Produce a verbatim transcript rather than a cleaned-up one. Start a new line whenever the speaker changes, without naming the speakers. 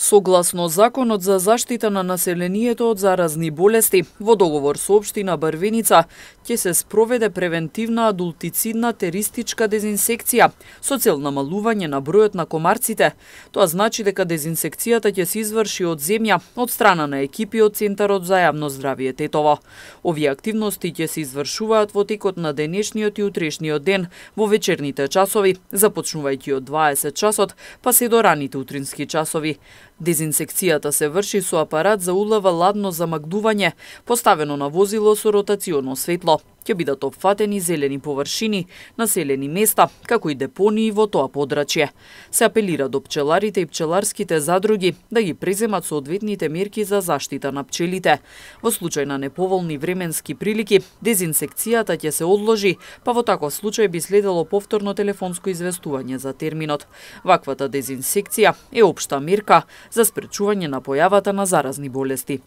Согласно Законот за заштита на населението од заразни болести, во договор со општина Барвеница ќе се спроведе превентивна адултицидна теристичка дезинсекција со цел намалување на бројот на комарците. Тоа значи дека дезинсекцијата ќе се изврши од земја од страна на екипи од Центарот за јавно здравје Тетово. Овие активности ќе се извршуваат во текот на денешниот и утрешниот ден во вечерните часови, започнувајќи од дваесет часот, па се до раните утрински часови. Дезинсекцијата се врши со апарат за улава ладно замагдување, поставено на возило со ротационо светло. Ќе бидат опфатени зелени површини, населени места, како и депонии во тоа подрачје. Се апелира до пчеларите и пчеларските задруги да ги преземат соодветните мерки за заштита на пчелите. Во случај на неповолни временски прилики, дезинсекцијата ќе се одложи, па во таков случај би следело повторно телефонско известување за терминот. Ваквата дезинсекција е општа мерка за спречување на појавата на заразни болести.